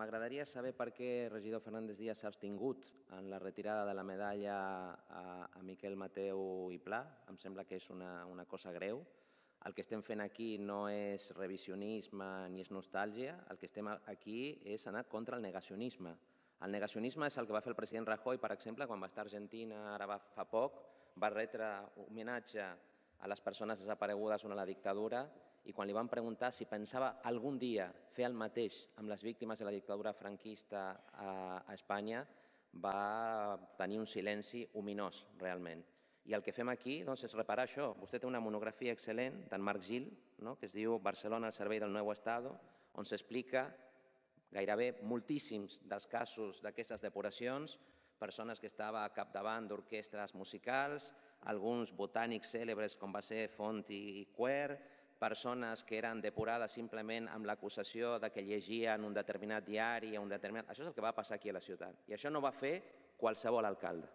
m'agradaria saber per què el regidor Fernández Díaz s'ha abstingut en la retirada de la medalla a Miquel Mateu i Pla. Em sembla que és una cosa greu. El que estem fent aquí no és revisionisme ni és nostàlgia, el que estem aquí és anar contra el negacionisme. El negacionisme és el que va fer el president Rajoy, per exemple, quan va estar a Argentina ara fa poc, va retre homenatge a les persones desaparegudes durant la dictadura i quan li van preguntar si pensava algun dia fer el mateix amb les víctimes de la dictadura franquista a Espanya, va tenir un silenci ominós, realment. I el que fem aquí és reparar això. Vostè té una monografia excel·lent d'en Marc Gil, que es diu Barcelona al servei del nuevo Estado, on s'explica gairebé moltíssims dels casos d'aquestes depuracions, persones que estaven al capdavant d'orquestres musicals, alguns botànics cèlebres com va ser Font i Quer, persones que eren depurades simplement amb l'acusació que llegien un determinat diari o un determinat... Això és el que va passar aquí a la ciutat. I això no va fer qualsevol alcalde.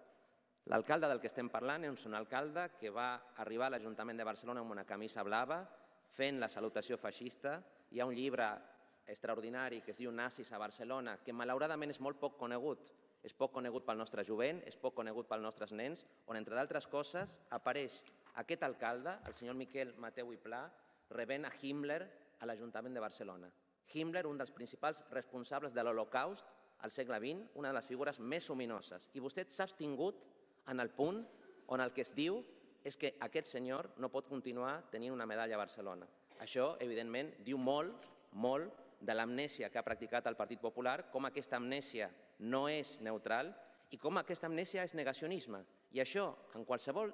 L'alcalde del que estem parlant és un alcalde que va arribar a l'Ajuntament de Barcelona amb una camisa blava, fent la salutació feixista. Hi ha un llibre extraordinari que es diu Nazis a Barcelona, que malauradament és molt poc conegut. És poc conegut pel nostre jovent, és poc conegut pels nostres nens, on, entre d'altres coses, apareix aquest alcalde, el senyor Miquel Mateu i Pla, rebent a Himmler a l'Ajuntament de Barcelona. Himmler, un dels principals responsables de l'Holocaust al segle XX, una de les figures més ominoses. I vostè s'ha abstingut en el punt on el que es diu és que aquest senyor no pot continuar tenint una medalla a Barcelona. Això, evidentment, diu molt, molt de l'amnèsia que ha practicat el Partit Popular, com aquesta amnèsia no és neutral i com aquesta amnèsia és negacionisme. I això, en qualsevol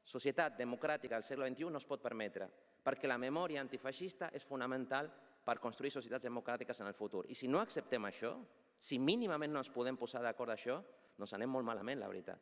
societat democràtica del segle XXI no es pot permetre, perquè la memòria antifeixista és fonamental per construir societats democràtiques en el futur. I si no acceptem això, si mínimament no ens podem posar d'acord d'això, doncs anem molt malament, la veritat.